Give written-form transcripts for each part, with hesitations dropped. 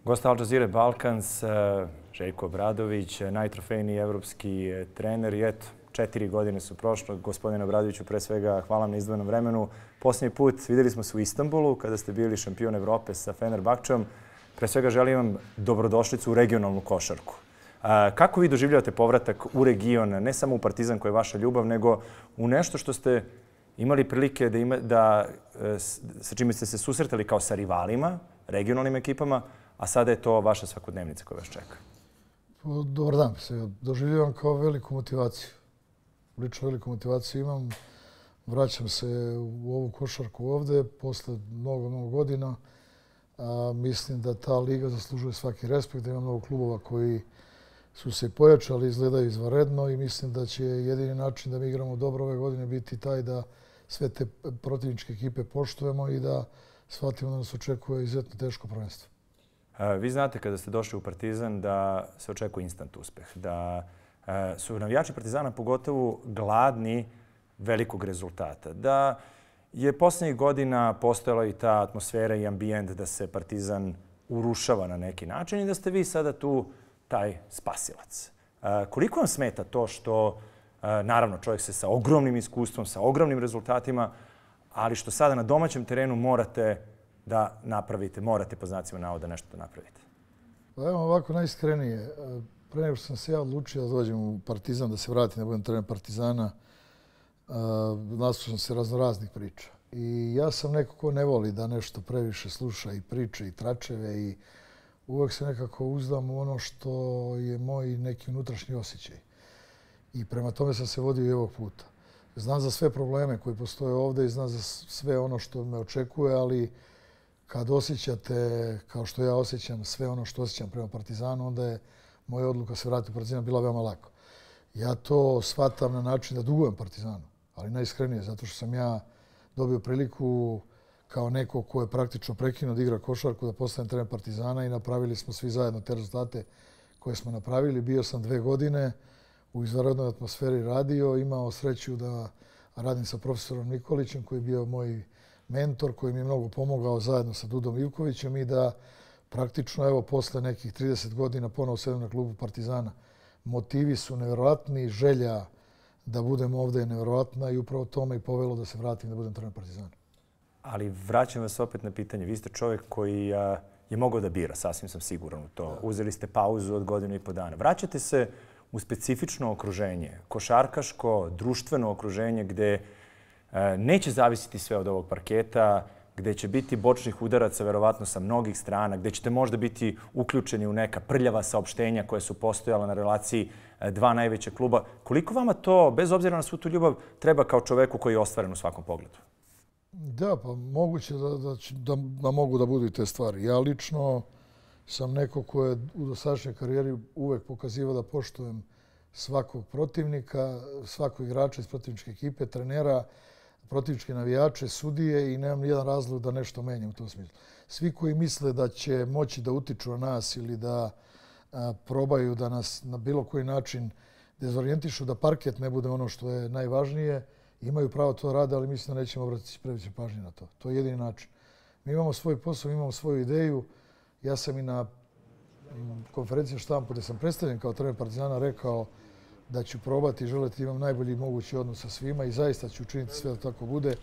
Gost Al Jazeera Balkans, Željko Obradović, najtrofejniji evropski trener. I eto, 4 godine su prošlo. Gospodine Obradoviću, pre svega hvala vam na izdvojenom vremenu. Posljednji put vidjeli smo se u Istanbulu kada ste bili šampion Evrope sa Fenerbahčom. Pre svega želim vam dobrodošlicu u regionalnu košarku. Kako vi doživljavate povratak u region, ne samo u Partizan koji je vaša ljubav, nego u nešto što ste imali prilike sa čime ste se susretali kao sa rivalima, regionalnim ekipama, a sada je to vaša svakodnevnica koja vas čeka? Dobar dan. Doživljavam kao veliku motivaciju. Lično veliku motivaciju imam. Vraćam se u ovu košarku ovde posle mnogo godina. Mislim da ta liga zaslužuje svaki respekt, da ima mnogo klubova koji su se pojačali, izgledaju izvanredno i mislim da će jedini način da mi igramo dobro ove godine biti taj da sve te protivničke ekipe poštujemo i da shvatimo da nas očekuje izuzetno teško prvenstvo. Vi znate kada ste došli u Partizan da se očekuje instant uspeh, da su navijači Partizana pogotovo gladni velikog rezultata, da je posljednjih godina postojala i ta atmosfera i ambijent da se Partizan urušava na neki način i da ste vi sada tu taj spasilac. Koliko vam smeta to što, naravno, čovjek se sa ogromnim iskustvom, sa ogromnim rezultatima, ali što sada na domaćem terenu morate da napravite, morate po znacima navoda nešto da napravite? Pa evo ovako najiskrenije. Pre nego što sam se ja odlučio da dođem u Partizan, da se vratim da budem trener Partizana, naslušao sam se raznoraznih priča. I ja sam neko ko ne voli da nešto previše sluša i priče i tračeve i uvek se nekako uzdam u ono što je moj neki unutrašnji osjećaj. I prema tome sam se vodio i ovog puta. Znam za sve probleme koji postoje ovde i znam za sve ono što me očekuje, ali kad osjećate, kao što ja osjećam, sve ono što osjećam prema Partizanu, onda je moja odluka se vratiti u Partizan bila veoma lako. Ja to shvatam na način da dugujem Partizanu, ali najiskrenije, zato što sam ja dobio priliku kao neko ko je praktično prekinuo da igra košarku, da postanem trener Partizana i napravili smo svi zajedno te rezultate koje smo napravili. Bio sam 2 godine u izvanrednoj atmosferi radio, imao sreću da radim sa profesorom Nikolićem koji je bio moj mentor, koji mi je mnogo pomogao zajedno sa Dudom Ivkovićem i da praktično evo posle nekih 30 godina ponovo sedem na klubu Partizana. Motivi su nevjerovatni, želja da budem ovdje je nevjerovatna i upravo to me i povelo da se vratim da budem trener Partizana. Ali vraćam vas opet na pitanje. Vi ste čovjek koji je mogao da bira, sasvim sam siguran u to. Uzeli ste pauzu od 1,5 godina. Vraćate se u specifično okruženje, košarkaško, društveno okruženje gdje neće zavisiti sve od ovog parketa, gdje će biti bočnih udaraca verovatno sa mnogih strana, gdje ćete možda biti uključeni u neka prljava saopštenja koje su postojala na relaciji 2 najveća kluba. Koliko vama to, bez obzira na svu tu ljubav, treba kao čoveku koji je ostvaren u svakom pogledu? Da, pa moguće da mogu da budu i te stvari. Ja lično sam neko ko je u dosadašnjoj karijeri uvek pokazivao da poštujem svakog protivnika, svakog igrača iz protivničke ekipe, trenera, protivničke navijače, sudije i nemam nijedan razlog da nešto menjam u tom smislu. Svi koji misle da će moći da utiču na nas ili da probaju da nas na bilo koji način dezorijentišu, da parket ne bude ono što je najvažnije, imaju pravo to rade, ali mislim da nećemo obratiti previše pažnje na to. To je jedini način. Mi imamo svoj posao, imamo svoju ideju. Ja sam i na konferenciji štampu gdje sam predstavljen kao trener Partizana rekao da ću probati i želeti da imam najbolji mogući odnos sa svima i zaista ću učiniti sve da tako bude.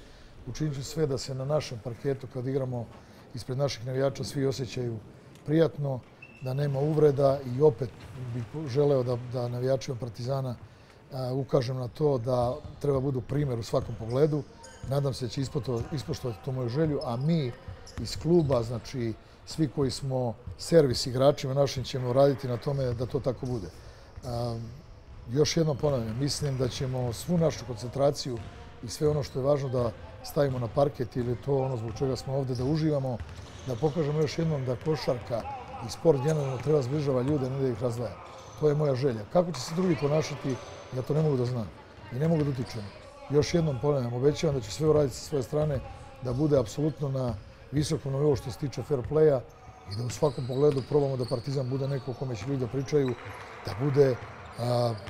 Učinit ću sve da se na našem parketu kad igramo ispred naših navijača svi osjećaju prijatno, da nema uvreda i opet bih želeo da navijačima Partizana ukažem na to da treba budu primjer u svakom pogledu. Nadam se da će ispoštovati tu moju želju, a mi iz kluba, znači svi koji smo servis igračima našim ćemo raditi na tome da to tako bude. Još jednom ponavljam, mislim da ćemo svu našu koncentraciju i sve ono što je važno da stavimo na parket ili to ono zbog čega smo ovdje da uživamo, da pokažemo još jednom da košarka i sport generalno treba zbližava ljude, ne da ih razdvaja. To je moja želja. Kako će se drugi ponašati, ja to ne mogu da znam i ne mogu da utičem. Još jednom ponavljam, obećavam da ću sve uraditi sa svoje strane da bude apsolutno na visokom nivou što se tiče fair playa i da u svakom pogledu probamo da Partizan bude neko o kome će ljudi da pričaju, da bude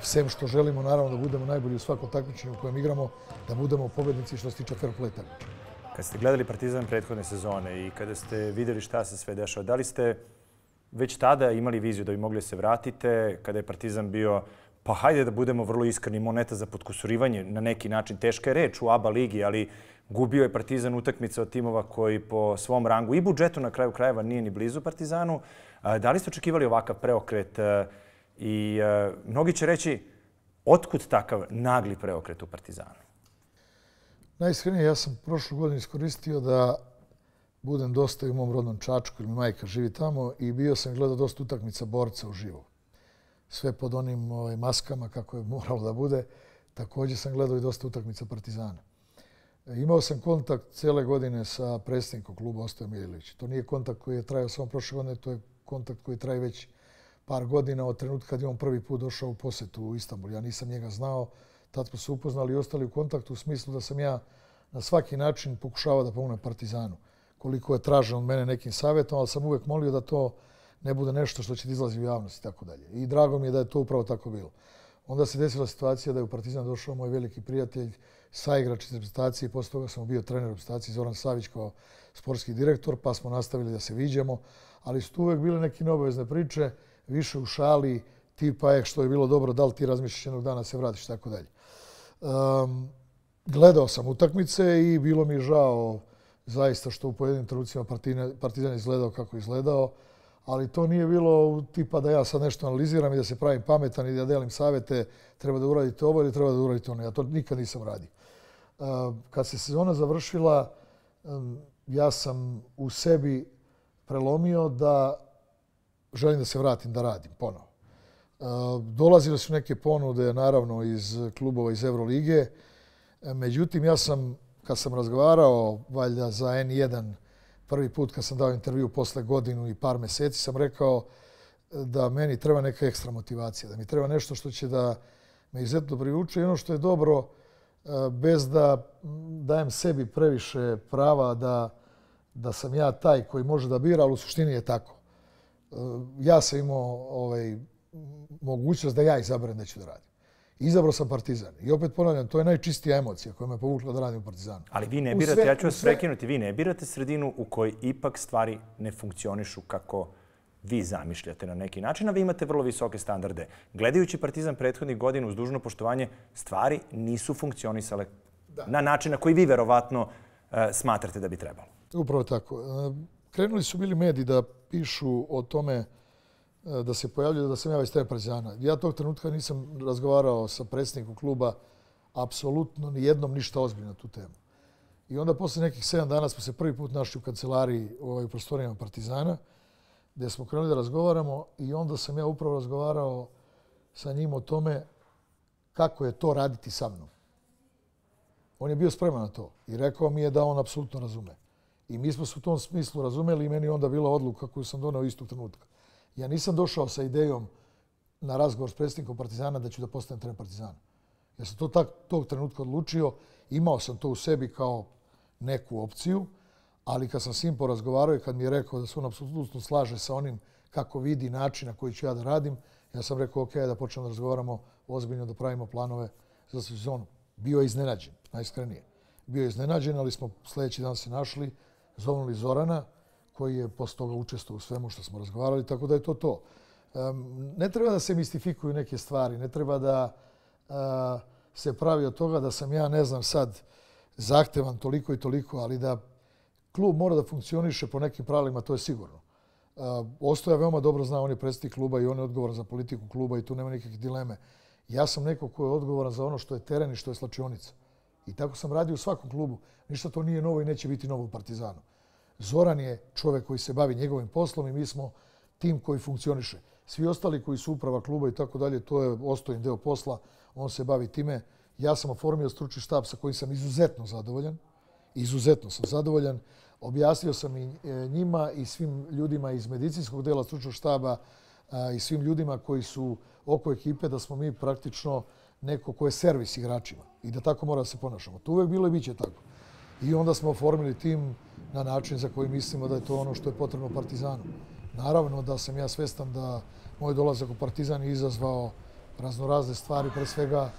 sem što želimo naravno da budemo najbolji u svakom takmičenju u kojem igramo, da budemo pobednici što se tiče fair play takmičenja. Kad ste gledali Partizan prethodne sezone i kada ste vidjeli šta se sve dešava, da li ste već tada imali viziju da bi mogli se vratite, kada je Partizan bio, pa hajde da budemo vrlo iskreni, moneta za potkusurivanje, na neki način teška je reč u ABA ligi, ali gubio je Partizan utakmice od timova koji po svom rangu i budžetu na kraju krajeva nije ni blizu Partizanu. Da li ste očekivali ovakav preokret i mnogi će reći otkud takav nagli preokret u Partizanu? Najiskrenije, ja sam prošlu godinu iskoristio da budem dosta i u mom rodnom Čačku, ili mi majka živi tamo, i bio sam gledao dosta utakmica borca uživo. Sve pod onim maskama kako je moralo da bude. Također sam gledao i dosta utakmica Partizana. Imao sam kontakt cijele godine sa predsjednikom kluba Ostojem Miljelić. To nije kontakt koji je trajao samo prošle godine, to je kontakt koji traje već par godina od trenutka kad je on prvi put došao u posjetu u Istanbul. Ja nisam njega znao, tad smo se upoznali i ostali u kontaktu u smislu da sam ja na svaki način pokušavao da pomognem Partizanu. Koliko je tražen od mene nekim savjetom, ali sam uvijek molio da to ne bude nešto što će izlazi u javnost i tako dalje. I drago mi je da je to upravo tako bilo. Onda se desila situacija da je u Partizan došao moj veliki prijatelj, saigrač iz reprezentacije, posle toga sam bio trener reprezentacije, Zoran Savić kao sportski direktor, pa smo nastavili da se viđamo, ali su tu uvijek bile neke neobavezne priče, više u šali, tipa što je bilo dobro, da li ti razmišljaš jednog dana se vratiš, tako dalje. Gledao sam utakmice i bilo mi je žao zaista što u pojedinim trenucima Partizan izgledao kako je izgledao, ali to nije bilo tipa da ja sad nešto analiziram i da se pravim pametan i da delim savjete, treba da uradite ovo ili treba da uradite ono. Ja to nikad nisam radio. Kad se sezona završila, ja sam u sebi prelomio da želim da se vratim da radim ponovo. Dolazile su neke ponude, naravno, iz klubova iz Evrolige. Međutim, ja sam, kad sam razgovarao valjda za N1, prvi put kad sam dao intervju posle godinu i par mjeseci, sam rekao da meni treba neka ekstra motivacija, da mi treba nešto što će da me izuzetno privuče i ono što je dobro, bez da dajem sebi previše prava da sam ja taj koji može da bira, ali u suštini je tako. Ja sam imao mogućnost da ja izaberem da ću da radim. Izabrao sam Partizan. I opet ponavljam, to je najčistija emocija koja me povukla da radim u Partizanu. Ali vi ne birate, ja ću vas prekinuti, vi ne birate sredinu u kojoj ipak stvari ne funkcionišu kako vi zamišljate na neki način, a vi imate vrlo visoke standarde. Gledajući Partizan prethodnih godina uz dužno poštovanje, stvari nisu funkcionisale na način na koji vi verovatno smatrate da bi trebalo. Upravo tako. Krenuli su bili mediji da pišu o tome da se pojavljaju da sam ja već trener Partizana. Ja tog trenutka nisam razgovarao sa predsjednikom kluba apsolutno ni jednom ništa ozbiljno na tu temu. I onda posle nekih 7 dana smo se prvi put našli u kancelariji u prostorijama Partizana, gdje smo krenuli da razgovaramo i onda sam ja upravo razgovarao sa njim o tome kako je to raditi sa mnom. On je bio spreman na to i rekao mi je da on apsolutno razume. I mi smo se u tom smislu razumeli i meni je onda bila odluka koju sam doneo istog trenutka. Ja nisam došao sa idejom na razgovor s predsjednikom Partizana da ću da postanem trener Partizana. Ja sam to tog trenutka odlučio, imao sam to u sebi kao neku opciju, ali kad sam s njim porazgovarao i kad mi je rekao da se on apsolutno slaže sa onim kako vidi način na koji ću ja da radim, ja sam rekao ok, da počnemo da razgovaramo ozbiljno, da pravimo planove za sezonu. Bio je iznenađen, najiskrenije. Bio je iznenađen, ali smo sljedeći dan se našli, zovnuli Zorana, koji je posle toga učestvovao u svemu što smo razgovarali, tako da je to to. Ne treba da se mistifikuju neke stvari, ne treba da se pravi od toga da sam ja, ne znam sad, zahtevan toliko i toliko, ali da klub mora da funkcioniše po nekim pravilima, to je sigurno. Ostoja veoma dobro zna, on je predsjednik kluba i on je odgovoran za politiku kluba i tu nema nikakve dileme. Ja sam neko ko je odgovoran za ono što je teren i što je slačionica. I tako sam radio u svakom klubu. Ništa to nije novo i neće biti novo u Partizanu. Zoran je čovjek koji se bavi njegovim poslom i mi smo tim koji funkcioniše. Svi ostali koji su uprava kluba i tako dalje, to je Ostojin deo posla, on se bavi time. Ja sam oformio stručni štab sa kojim sam izuzetno zadovoljan. Izuzetno sam zadovoljan. Objasnio sam i njima i svim ljudima iz medicinskog dela stručnog štaba i svim ljudima koji su oko ekipe da smo mi praktično neko ko je servis igračima i da tako mora da se ponašamo. To uvijek bilo i bit će tako. I onda smo oformili tim na način za koji mislimo da je to ono što je potrebno Partizanu. Naravno da sam ja svestan da moj dolazak u Partizan je izazvao raznorazne stvari, pre svega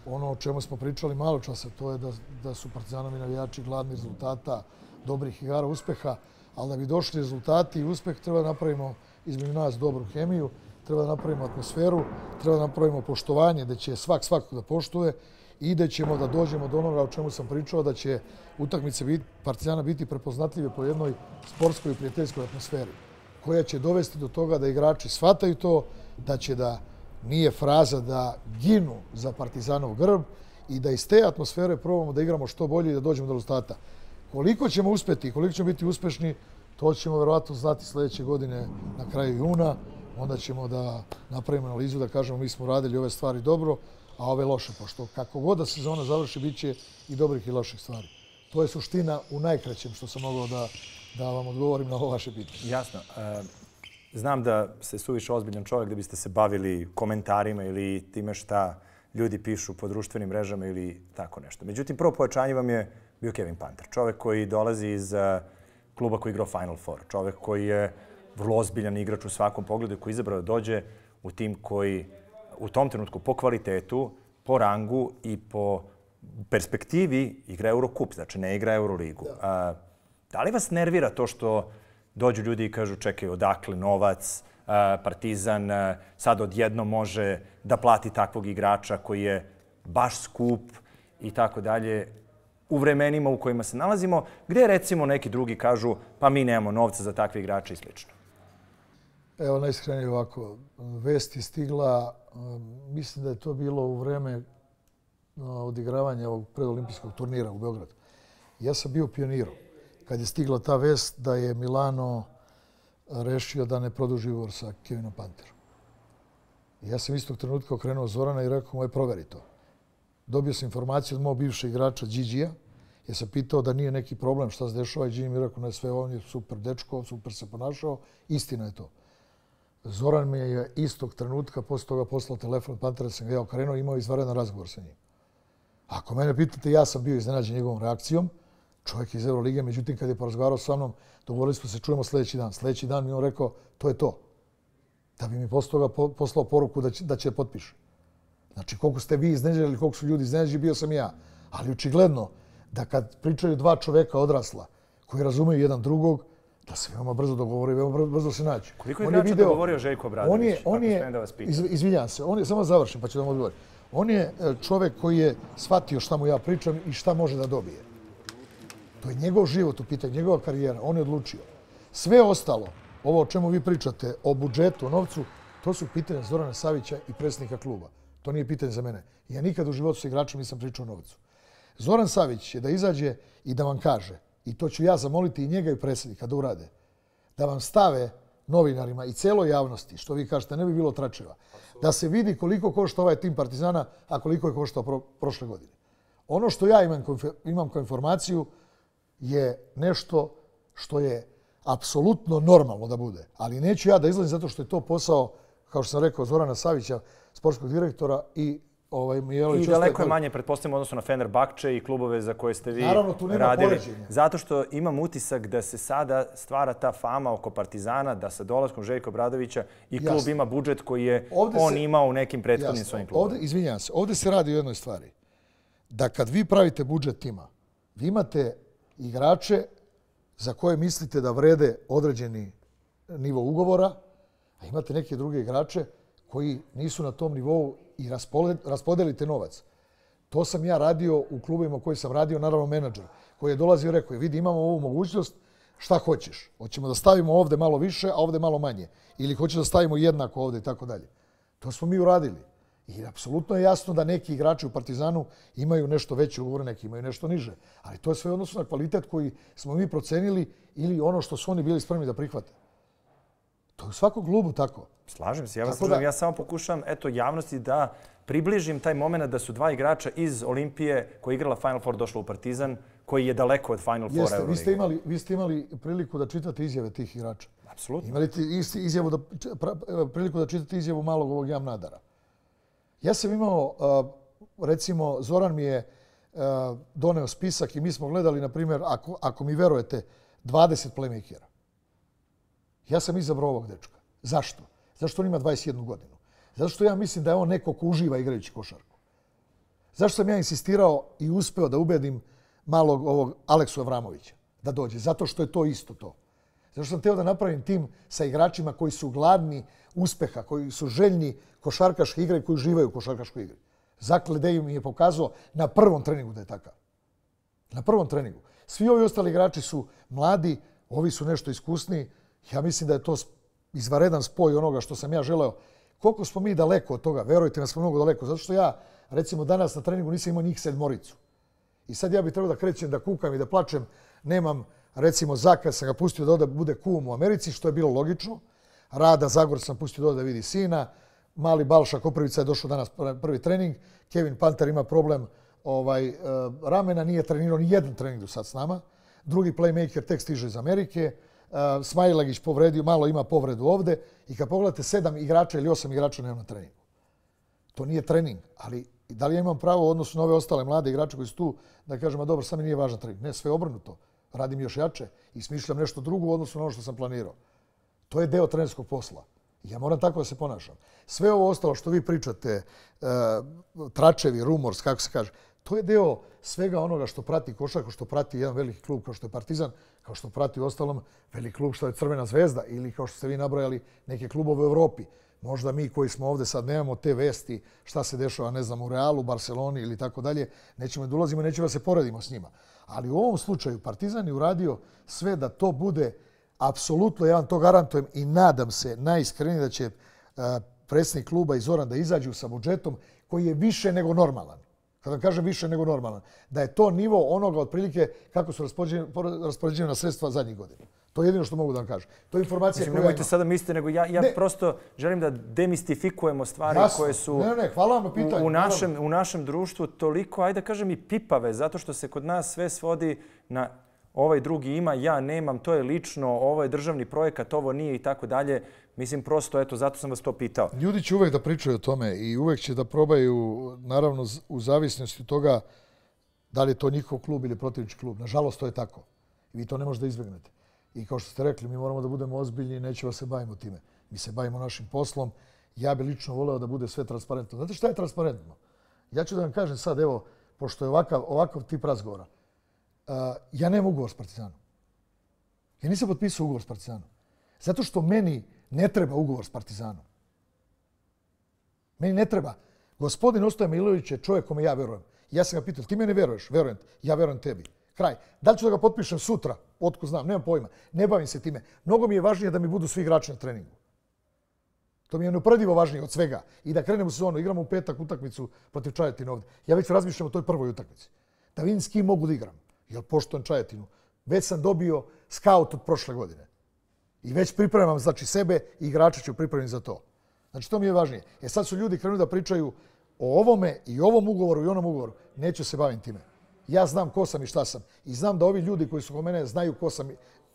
ono o čemu smo pričali malo časa, to je da su Partizanovi navijači gladni rezultata, dobrih igara, uspeha, ali da bi došli rezultati i uspeh treba da napravimo između nas dobru hemiju, treba da napravimo atmosferu, treba da napravimo poštovanje, da će svakog da poštuje i da ćemo da dođemo do onoga o čemu sam pričao, da će utakmice Partizana biti prepoznatljive po jednoj sportskoj i prijateljskoj atmosferi, koja će dovesti do toga da igrači shvataju to, da će da nije fraza da ginu za Partizanov grb i da iz te atmosfere probamo da igramo što bolje i da dođemo do rezultata. Koliko ćemo uspjeti i koliko ćemo biti uspješni, to ćemo verovatno znati sljedeće godine na kraju juna. Onda ćemo da napravimo analizu, da kažemo mi smo radili ove stvari dobro, a ove loše, pošto kako god da sezona završi, bit će i dobrih i loših stvari. To je suština u najkraćem što sam mogao da vam odgovorim na ovo vaše pitanje. Jasno. Znam da ste suviše ozbiljan čovjek da biste se bavili komentarima ili time šta ljudi pišu po društvenim mrežama ili tako nešto. Međutim, prvo pojačanje vam je bio Kevin Panter. Čovjek koji dolazi iz kluba koji igrao Final Four. Čovjek koji je vrlo ozbiljan igrač u svakom pogledu i koji je izabrao da dođe u tim koji u tom trenutku po kvalitetu, po rangu i po perspektivi igra Eurocup, znači ne igra Euroligu. Da li vas nervira to što dođu ljudi i kažu čekaj, odakle novac, Partizan sad odjednom može da plati takvog igrača koji je baš skup i tako dalje u vremenima u kojima se nalazimo, gdje recimo neki drugi kažu pa mi nemamo novca za takve igrače i slično? Evo, najiskrenije ovako. Vest je stigla, mislim da je to bilo u vreme odigravanja ovog predolimpijskog turnira u Beogradu. Ja sam bio pionirom kad je stigla ta vest da je Milano rešio da ne produži ugovor sa Kevinom Panterom. Ja sam istog trenutka okrenuo Zorana i rekao mu proveri to. Dobio sam informaciju od mojeg bivšeg igrača Điđija. Ja sam pitao da nije neki problem šta se dešava i Điđi mi rekao ne, sve on je super dečko, super se ponašao. Istina je to. Zoran mi je istog trenutka posle toga poslao telefon od Pantera, sam ga ja okrenuo i imao izvanredan razgovor sa njim. Ako mene pitate, ja sam bio iznenađen njegovom reakcijom. Čovjek iz Eurolige, međutim, kad je porazgovarao sa mnom, dogovorili smo se čujemo sljedeći dan. Sljedeći dan mi on rekao, to je to. Da bi mi posle toga poslao poruku da će potpiše. Znači, koliko ste vi iznenađeni ili koliko su ljudi iznenađeni, bio sam ja. Ali očigledno da kad pričaju dva čovjeka odrasla koji razumeju jedan drugog, da se veoma brzo dogovore i veoma brzo se nađu. Koliko je igrača dogovorio Željko Obradović? Izvinjam se, samo završim pa ću da vam odgovorim. On je čovjek koji je shvatio šta mu ja pričam i šta može da dobije. To je njegov život u pitanju, njegova karijera. On je odlučio. Sve ostalo, ovo o čemu vi pričate, o budžetu, o novcu, to su pitanja Zorana Savića i predsjednika kluba. To nije pitanje za mene. Ja nikad u životu s igračem nisam pričao o novcu. Zoran Savić je da izađe i da vam kaže, i to ću ja zamoliti i njega i predsjednika da urade, da vam stave novinarima i celoj javnosti, što vi kažete, ne bi bilo tračeva, da se vidi koliko košta ovaj tim Partizana, a koliko je koštao prošle godine. Ono što ja imam kao informaciju je nešto što je apsolutno normalno da bude. Ali neću ja da izlazim zato što je to posao, kao što sam rekao, Zorana Savića, sportskog direktora i I daleko je manje, pretpostavljamo, odnosno na Fenerbahče i klubove za koje ste vi radili. Naravno, tu nema poređenja. Zato što imam utisak da se sada stvara ta fama oko Partizana, da sa dolaskom Željka Obradovića i klub ima budžet koji je on imao u nekim prethodnim svojim klubovima. Izvinjam se, ovdje se radi o jednoj stvari. Da kad vi pravite budžet tima, vi imate igrače za koje mislite da vrede određeni nivo ugovora, a imate neke druge igrače koji nisu na tom nivou i raspodelite novac. To sam ja radio u klubima u koji sam radio, naravno menadžer, koji je dolazio i rekao, vidi, imamo ovu mogućnost, šta hoćeš? Hoćemo da stavimo ovdje malo više, a ovdje malo manje. Ili hoćeš da stavimo jednako ovdje i tako dalje. To smo mi uradili. I apsolutno je jasno da neki igrači u Partizanu imaju nešto veće ugovore, neki imaju nešto niže. Ali to je sve odnosno na kvalitet koji smo mi procenili ili ono što su oni bili spremni da prihvate. To je u svakom klubu tako. Slažem se, ja samo pokušam javnosti da približim taj moment da su dva igrača iz Olimpije koja je igrala Final Four došla u Partizan, koji je daleko od Final Four Euroliga. Vi ste imali priliku da čitate izjave tih igrača. Apsolutno. Imali priliku da čitate izjavu malog ovog Jamnadara. Ja sam imao, recimo, Zoran mi je doneo spisak i mi smo gledali, na primjer, ako mi verujete, 20 playmakera. Ja sam izabrao ovog dečka. Zašto? Zašto on ima 21 godinu? Zato što ja mislim da je on neko ko uživa igrajući košarku. Zašto sam ja insistirao i uspeo da ubedim malog ovog Aleksu Avramovića da dođe? Zato što je to isto to. Zato što sam teo da napravim tim sa igračima koji su gladni uspeha, koji su željni košarkaške igre i koji uživaju u košarkaškoj igri. Zak Ledej mi je pokazao na prvom treningu da je takav. Na prvom treningu. Svi ovi ostali igrači su mladi, ovi su nešto iskusniji. Ja mislim da je to izvaredan spoj onoga što sam ja želeo. Koliko smo mi daleko od toga? Verujte, nas smo mnogo daleko. Zato što ja, recimo, danas na treningu nisam imao njih 7. I sad ja bih trebao da krećem, da kukam i da plačem. Nemam, recimo, Zaka sam ga pustio da ode bude kum u Americi, što je bilo logično. Rada Zagor sam pustio da ode da vidi sina. Mali Balša Koprivica je došao danas prvi trening. Kevin Panter ima problem ramena, nije trenirao ni jedan trening do sad s nama. Drugi playmaker tek stiže iz Amerike. Smajlagić povredio, malo ima povredu ovde. I kad pogledate 7 igrača ili 8 igrača nema na treningu. To nije trening, ali da li ja imam pravo u odnosu na ove ostale mlade igrače koji su tu da kažem, a dobro, sad mi nije važan trening. Ne, sve obrnuto. Radim još jače i smišljam nešto drugo u odnosu na ono što sam planirao. To je deo trenerskog posla. Ja moram tako da se ponašam. Sve ovo ostalo što vi pričate, tračevi, rumors, kako se kaže, to je deo svega onoga što prati košarku, što prati jedan veliki klub kao što je Partizan, kao što prati ostalom veliki klub što je Crvena zvezda ili kao što ste vi nabrojali neke klubove u Evropi. Možda mi koji smo ovde sad nemamo te vesti šta se dešava, ne znam, u Realu, Barceloni ili tako dalje, nećemo da ulazimo, nećemo da se poredimo s njima. Ali u ovom slučaju Partizan je uradio sve da to bude apsolutno, ja vam to garantujem i nadam se najiskrenije da će predsjednik kluba i Zoran da izađu sa budžetom koji je više nego normalan. Kada kažem više nego normalan, da je to nivo onoga otprilike kako su raspoređena sredstva zadnjih godina. To je jedino što mogu da vam kažem. To je informacija koju ja imam. Nemojte sada misliti, nego ja prosto želim da demistifikujemo stvari koje su hvala vam na pitanju. U našem društvu toliko, ajde da kažem, i pipave, zato što se kod nas sve svodi na ovaj drugi ima, ja nemam, to je lično, ovo je državni projekat, ovo nije i tako dalje. Mislim, prosto, eto, zato sam vas to pitao. Ljudi će uvek da pričaju o tome i uvek će da probaju, naravno, u zavisnosti od toga da li je to njihov klub ili protivnički klub. Nažalost, to je tako. I vi to ne možete da izbjegnete. I kao što ste rekli, mi moramo da budemo ozbiljni i nećemo se bavimo time. Mi se bavimo našim poslom. Ja bih lično voleo da bude sve transparentno. Znate šta je transparentno? Ja ću da vam kažem sad, evo, pošto je ovakav tip razgovora. Ja nemam ugovor s Partizanom. Ja nisam potpisao ugovor s Partizanom. Zato što meni ne treba ugovor s Partizanom. Meni ne treba. Gospodin Ostoja Milović je čovjek kome ja verujem. Ja sam ga pitao, ti mene veruješ? Verujem. Ja verujem tebi. Kraj. Da li ću da ga potpišem sutra? Otko znam, nemam pojma. Ne bavim se time. Mnogo mi je važnije da mi budu svi igrači na treningu. To mi je neuporedivo važnije od svega. I da krenemo u sezonu. Igramo u petak utakmicu protiv Čajetine ovdje. Ja već razmišljam o toj prvoj utakmici. Da vidim s kim mogu da igram. Jer poštujem Čajetinu. Već sam dobio skaut od prošle godine. I već pripremam, znači, sebe i igrača ću pripremiti za to. Znači, to mi je važnije. Sad su ljudi krenuli da pričaju o ovome i ovom ugovoru i onom ugovoru. Neću se baviti time. Ja znam ko sam i šta sam. I znam da ovi ljudi koji su kod mene znaju ko sam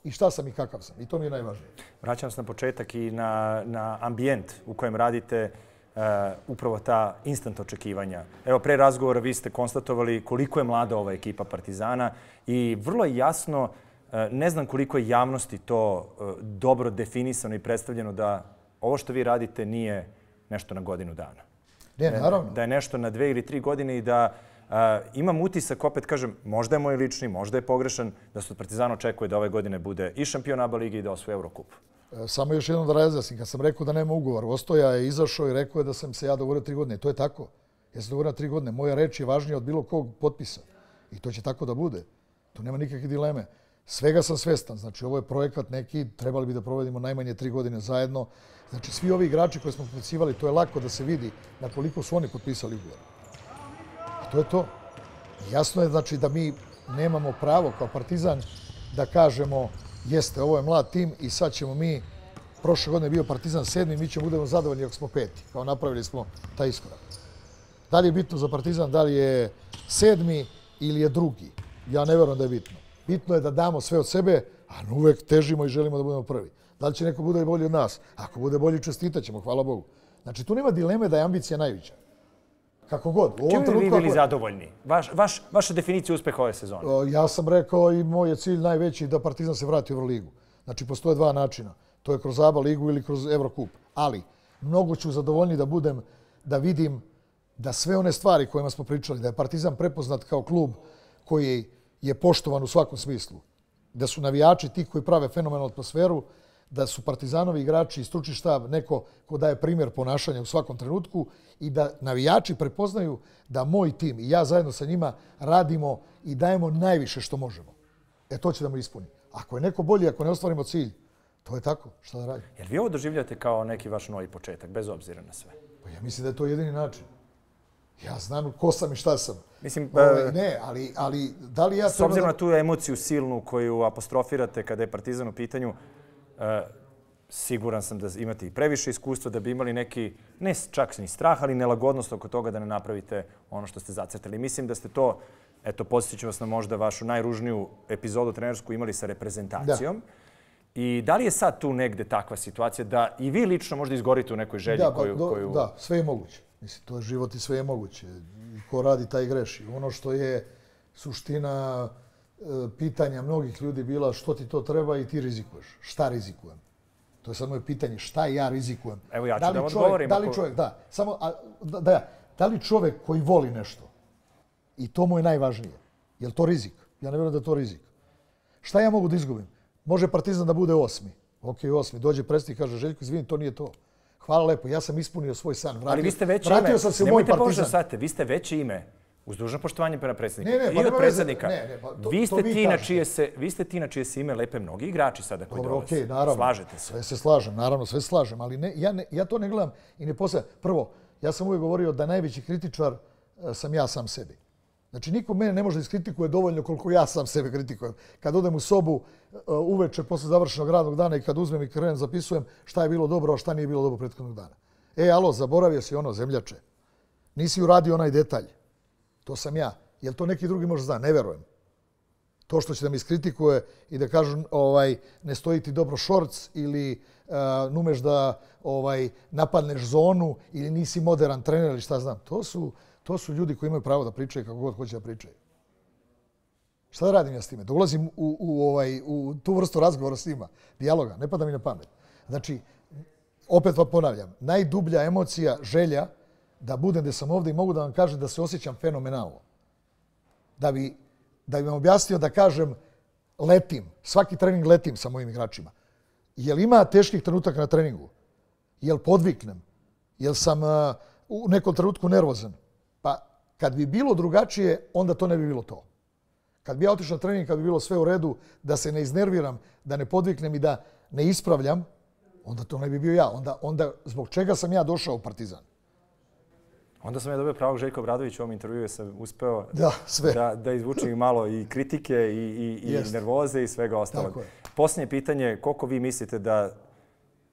i šta sam i kakav sam. I to mi je najvažnije. Vraćam se na početak i na ambijent u kojem radite upravo ta instant očekivanja. Evo, pre razgovora vi ste konstatovali koliko je mlada ova ekipa Partizana i vrlo je jasno, ne znam koliko je javnosti to dobro definisano i predstavljeno da ovo što vi radite nije nešto na godinu dana. Ne, naravno. Da je nešto na 2 ili 3 godine i da imam utisak, opet kažem, možda je moj lični, možda je pogrešan, da se od Partizana očekuje da ove godine bude i šampion ABA lige i da osvoji Eurocup. Samo još jednom da razjasnim. Kad sam rekao da nema ugovor, Ostoja je izašao i rekao je da sam se ja dogovorio 3 godine. To je tako. Ja sam dogovorio 3 godine. Moja reč je važnija od bilo kog potpisa. I to će tako da bude. To nema nikakve dileme. Svega sam svestan. Znači, ovo je projekat neki, trebali bi da provedimo najmanje 3 godine zajedno. Znači, svi ovi igrači koje smo potpisivali, to je lako da se vidi na koliko su oni potpisali ugovor. I to je to. Jasno je, znači, da mi nemamo pravo kao Partizan da kažemo jeste, ovo je mlad tim i sad ćemo mi, prošle godine bio Partizan 7. mi ćemo budemo zadovoljni ako smo 5. Kao napravili smo taj iskorak. Da li je bitno za Partizan, da li je 7. ili je 2. Ja ne verujem da je bitno. Bitno je da damo sve od sebe, a uvek težimo i želimo da budemo prvi. Da li će neko bude bolji od nas? Ako bude bolji, čestitat ćemo, hvala Bogu. Znači, tu nema dileme da je ambicija najveća. Kako god. Čim bi vi bili zadovoljni? Vaša definicija uspeha ove sezone? Ja sam rekao i moj je cilj najveći da Partizan se vrati u Euroligu. Znači, postoje 2 načina. To je kroz ABA ligu ili kroz Eurocup. Ali, mnogo ću zadovoljni da budem, da vidim da sve one stvari kojima smo pričali, da je Partizan prepoznat kao klub koji je poštovan u svakom smislu. da su navijači ti koji prave fenomenalnu atmosferu, da su Partizanovi igrači i stručni štab neko ko daje primjer ponašanja u svakom trenutku i da navijači prepoznaju da moj tim i ja zajedno sa njima radimo i dajemo najviše što možemo. To će da me ispuni. Ako je neko bolji, ako ne ostvarimo cilj, to je tako. Šta da radimo? Jer vi ovo doživljate kao neki vaš novi početak, bez obzira na sve? Pa ja mislim da je to jedini način. Ja znam ko sam i šta sam. Mislim, ne, ali da li ja... S obzirom na tu emociju silnu koju apostrofirate kada je Partizan u pitanju, siguran sam da imate i previše iskustva da bi imali neki, ne čak ni strah, ali nelagodnost oko toga da ne napravite ono što ste zacrtali. Mislim da ste to, eto, podsjetit ću vas na možda vašu najružniju epizodu trenersku imali sa reprezentacijom. I da li je sad tu negde takva situacija da i vi lično možda izgorite u nekoj želji koju... Da, sve je moguće. Mislim, to je život i sve je moguće. Ko radi, taj greši. Ono što je suština pitanja mnogih ljudi bila što ti to treba i ti rizikuješ. Šta rizikujem? To je sad moje pitanje. Šta ja rizikujem? Evo ja ću da vam odgovorim. Da li čovjek koji voli nešto, i to mu je najvažnije, je li to rizik? Ja ne vjerujem da je to rizik. Šta ja mogu da izgubim? Može Partizan da bude 8. Ok, 8. Dođe predsjednik i kaže, Željko, izvini, to nije to. Hvala lepo, ja sam ispunio svoj san. Ali vi ste veće ime. Vratio sam se u moj Partizan. Vi ste veće ime. Uz dužno poštovanje prema predsjedniku. Ne, I od predsjednika. Vi ste ti na čije se ime lepe mnogi igrači sada koji dolaze. Okej, naravno. Slažete se? Sve se slažem, naravno, sve se slažem. Ali ja to ne gledam i ne postavljam. Prvo, ja sam uvijek govorio da najveći kritičar sam ja sam sebi. Znači, niko mene ne može iskritikuje dovoljno koliko ja sam sebe kritikujem. Kad odem u sobu uveče posle završenog radnog dana i kad uzmem i krenem zapisujem šta je bilo dobro, a šta nije bilo dobro prethodnog dana. Alo, zaboravio si ono, zemljače. Nisi uradio onaj detalj. To sam ja. Jel to neki drugi može zna? Ne verujem. To što će da mi iskritikuje i da kažu ne stoji ti dobro šorc ili numeš da napadneš zonu ili nisi moderan trener ili šta znam. To su ljudi koji imaju pravo da pričaju kako god hoće da pričaju. Šta da radim ja s time? Da ulazim u tu vrstu razgovora s njima, dijaloga, ne pada mi na pamet. Znači, opet vam ponavljam, najdublja emocija, želja da budem gdje sam ovdje i mogu da vam kažem da se osjećam fenomenalno. Da bi vam objasnio da kažem letim, svaki trening letim sa mojim igračima. Jel ima teških trenutaka na treningu? Jel podviknem? Jel sam u nekom trenutku nervozan? Pa kad bi bilo drugačije, onda to ne bi bilo to. Kad bi ja otišao na trening, kad bi bilo sve u redu, da se ne iznerviram, da ne podviknem i da ne ispravljam, onda to ne bi bio ja. Onda zbog čega sam ja došao u Partizan? Onda sam ja dobio pravog Željka Obradovića u ovom intervjuu, sam uspeo da izvučem malo i kritike i nervoze i svega ostalog. Posljednje pitanje, koliko vi mislite da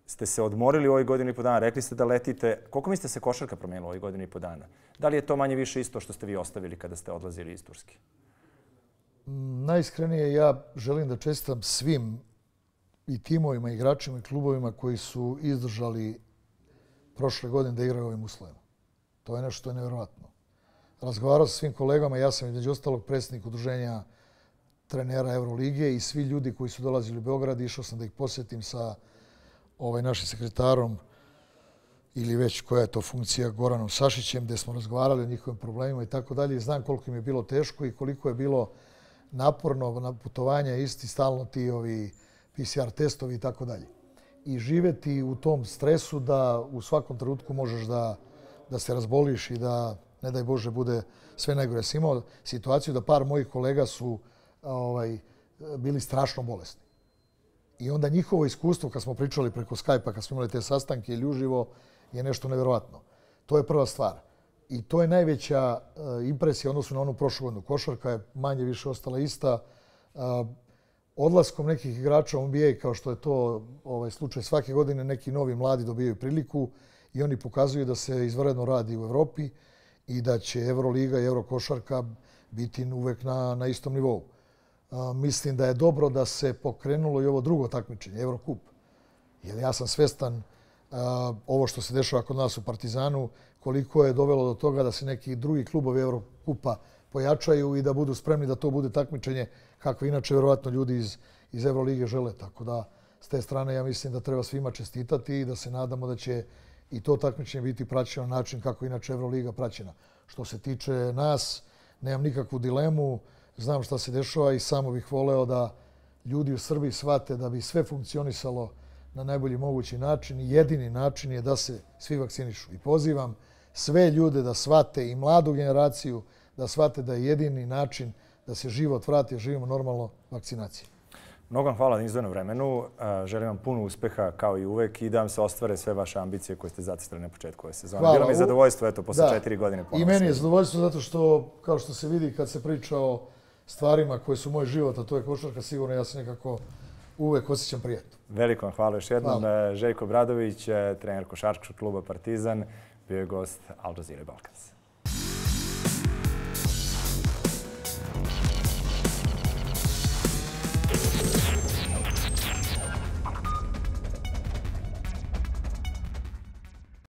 ste se odmorili u ovoj godinu i po dana, rekli ste da letite, koliko mislite se košarka promijenila u ovoj godinu i po dana? Da li je to manje više isto što ste vi ostavili kada ste odlazili iz Turske? Najiskrenije ja želim da čestitam svim i timovima, igračima i klubovima koji su izdržali prošle godine da igraju ovim uslovima. To je nešto što je nevjerovatno. Razgovarao sa svim kolegama, ja sam između ostalog predsjednik udruženja trenera Euroligije i svi ljudi koji su dolazili u Beograd, išao sam da ih posjetim sa našim sekretarom ili već koja je to funkcija Goranom Sašićem, gdje smo razgovarali o njihovim problemima i tako dalje. Znam koliko im je bilo teško i koliko je bilo naporno na putovanja, isti stalno ti PCR testovi i tako dalje. I živeti u tom stresu da u svakom trenutku možeš da se razboliš i da, ne daj Bože, bude sve najgore. Ja sam imao situaciju da par mojih kolega su bili strašno bolesni. I onda njihovo iskustvo, kad smo pričali preko Skype-a, kad smo imali te sastanke ili uživo, je nešto nevjerovatno. To je prva stvar. I to je najveća impresija odnosno na onu prošlu godinu. Košarka je manje više ostala ista. Odlaskom nekih igrača u NBA, kao što je to slučaj svake godine, neki novi mladi dobijaju priliku i oni pokazuju da se izvanredno radi u Evropi i da će Euroliga i Eurokošarka biti uvek na istom nivou. Mislim da je dobro da se pokrenulo i ovo drugo takmičenje, Eurocup. Jer ja sam svestan ovo što se dešava kod nas u Partizanu, koliko je dovelo do toga da se neki drugi klubovi Eurocupa pojačaju i da budu spremni da to bude takmičenje kako inače vjerovatno ljudi iz Eurolige žele. Tako da s te strane ja mislim da treba svima čestitati i da se nadamo da će i to takmičenje biti praćeno na način kako inače Euroliga praćena. Što se tiče nas, nemam nikakvu dilemu, znam šta se dešava i samo bih voleo da ljudi u Srbiji shvate da bi sve funkcionisalo na najbolji mogući način i jedini način je da se svi vakcinišu. I pozivam sve ljude da shvate i mladu generaciju da shvate da je jedini način da se život vrati, živimo normalno vakcinacije. Mnogo vam hvala na izdvojenom vremenu. Želim vam puno uspeha kao i uvek i da vam se ostvare sve vaše ambicije koje ste zacrtali na početku ove sezone. Bilo mi je zadovoljstvo posle 4 godine ponovno. I meni je zadovoljstvo zato što, kao što se vidi kad se priča o stvarima koje su moj život, a to je košarka, sigurno ja se nekako uvek osjećam prijatno. Veliko vam hvala još jednom. Željko Obradović, trener košarkaškog kluba Partizan, bio je gost Al Jazeera Balkans.